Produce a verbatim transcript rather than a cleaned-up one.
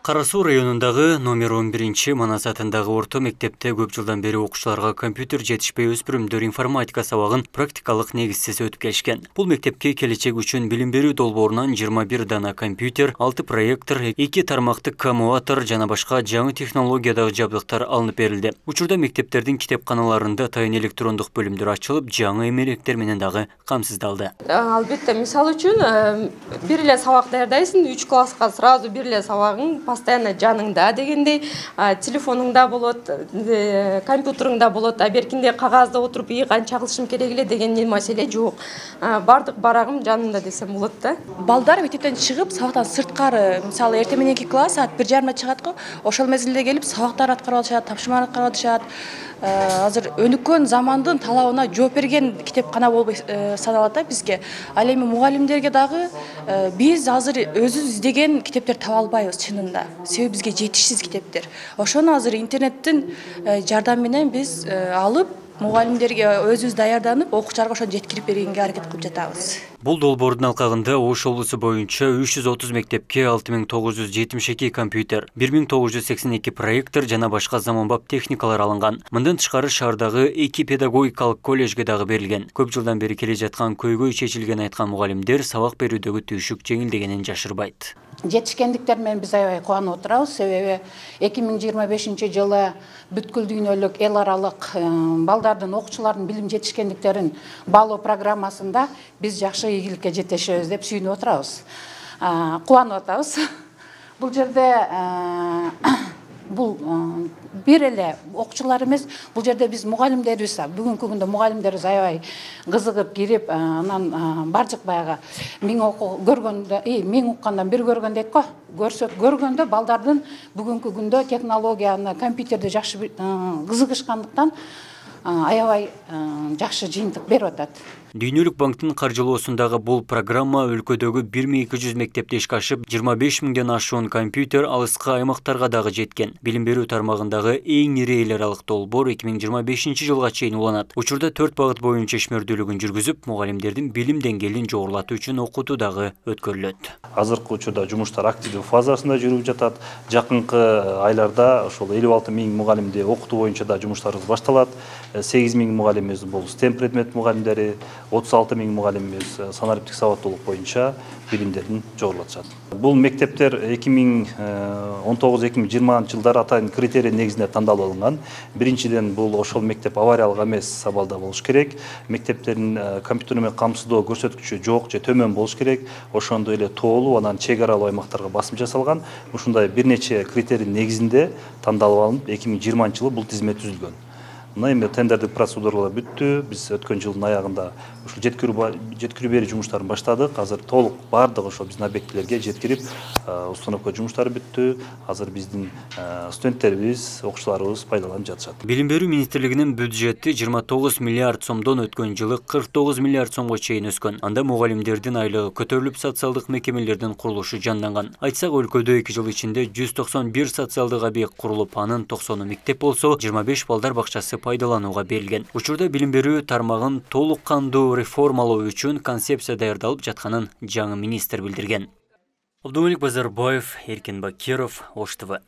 Кара Суу районундагы номер он биринчи Манас атындагы орто мектепте көп жылдан бери окуучуларга компьютер жетишпей өспүрүмдөр информатика сабагын практикалык негизсиз өтүп келишкен. Бул мектепке келечек үчүн билим берүү долбоорунан жыйырма бир дана компьютер, алты проектор, эки тармактык коммутатор жана башка жаңы технологиядагы жабдыктар алынып берилди. Учурда мектептердин китепканаларында тайын электрондук бөлүмдөр ачылып, жаңы эмеректер менен дагы камсыздалды. Албетте, мисалы үчүн бир эле сабак даярдайсың, үч класска сразу бир эле сабагың постоянно жаныңда дегендей, телефонуңда болот, компьютериңда болот, а беркинде кагазда отуруп ии канча кылышым керек эле деген маселе жок. Бардык барагым жанымда десем болот да. Балдар мектептен чыгып, сабактан сырткары, мисалы эртең мененки класс саат бир жарымда чыгат го, ошол мезгилде келип сабактар аткарып алышат, тапшырмалар аткарып алышат. Азыр өнүккөн замандын талабына жооп берген китепкана болуп саналат да бизге. Ал эми мугалимдерге дагы биз азыр өзүбүз издеген китептер таба албайбыз чынында. Себеби бизге жетишсиз китептер. Ошону азыр интернеттин жардамы менен биз алып, мугалимдерге өзүбүз даярданып, окуучуларга ошону жеткирип бергенге аракет кылып жатабыз. Бул долбоордун алкагында Ош облусу боюнча үч жүз отуз мектепке алты миң тогуз жүз жетимиш эки компьютер, бир миң тогуз жүз сексен эки проектор жана башка заманбап техникалар алынган. Мындан тышкары шаардагы эки педагогикалык коллежге дагы берилген. Көп жылдан бери келе жаткан көйгөй чечилген айткан мугалимдер сабак берүүдөгү түйшүк жеңилдегенин жашырбайт. Жетишкендиктер менен биз аябай кубанып отурабыз, себеби эки миң жыйырма бешинчи жылы бүткүл дүйнөлүк эл аралык балдардын, окуучулардын билим жетишкендиктерин баалоо программасында биз жакшы ийгиликке жетешебиз деп сүйүнүп отурабыз. Кубанып атабыз. Бул жерде бул бир эле окуучулар эмес, бул жерде биз мугалимдерибиз, бүгүнкү күндө мугалимдерибиз аябай кызыгып кирип, анан бардык баягы миң көргөндө, миң уккандан бир көргөн дейт го. Көрсөт көргөндө балдардын бүгүнкү күндө технологияны, компьютерди жакшы кызыгышкандыктан аябай жакшы жыйынтык берип атат. Дүйнөлүк банктын каржылоосундагы бул программа өлкөдөгү бир миң эки жүз мектепте ишке ашып, жыйырма беш миңден ашуун компьютер алыскы аймактарга дагы жеткен. Билим берүү тармагындагы эң ири эл аралык долбоор эки миң жыйырма бешинчи жылга чейин уланат. Учурда төрт багыт боюнча ишмердүүлүгүн жүргүзүп, мугалимдердин билим деңгээлин жогорулатуу үчүн окутуу дагы өткөрүлөт. Азыркы учурда жумуштар активдүү фазасында жүрүп жатат. Жакынкы айларда ошол элүү алты миң мугалимди окутуу боюнча да жумуштарыбыз башталат. сегиз миң мугалимибиз бул стем предмет мугалимдери, отуз алты миң мугалимибиз санариптик сабаттуулук боюнча билимдерин жогорулатышат. Бул мектептер эки миң он тогуз эки миң жыйырманчы жылдары атайын критерий негизинде тандалып алынган. Биринчиден бул ошол мектеп авариялык эмес абалда болуш керек. Мектептердин компьютер менен камсыздоо көрсөткүчү жок же төмөн болуш керек. Ошондой эле тоолуу, анан чек аралуу аймактарга басым жасалган. Ушундай бир нече критерий негизинде тандалып алынып, эки миң жыйырманчы жылы бул тизме түзүлгөн. Мына эми тендердик процедуралар бүттү. Биз өткөн жылдын аягында ушул жеткирүү жеткирүү берүү жумуштарын баштадык. Азыр толук бардык ошол биздин объектилерге жеткирип, установка жумуштары бүттү. Азыр биздин студенттерибиз, окуучуларыбыз пайдаланып жатышат. Билим берүү министрлигинин бюджети жыйырма тогуз миллиард сомдон өткөн жылы кырк тогуз миллиард сомго чейин өскөн. Анда мугалимдердин айлыгы көтөрүлүп, социалдык мекемелердин курулушу жанданган. Айтсак, өлкөдө эки жыл ичинде жүз токсон бир социалдык объект курулуп, анын токсону мектеп болсо, жыйырма беш балдар бакчасы пайдаланууга берилген. Учурда билим берүү тармагын толук кандуу реформалоо үчүн концепция даярдалып жатканын жаңы министр билдирген. Абдумалик Базарбаев, Эркин Бакиров, Ош ТВ.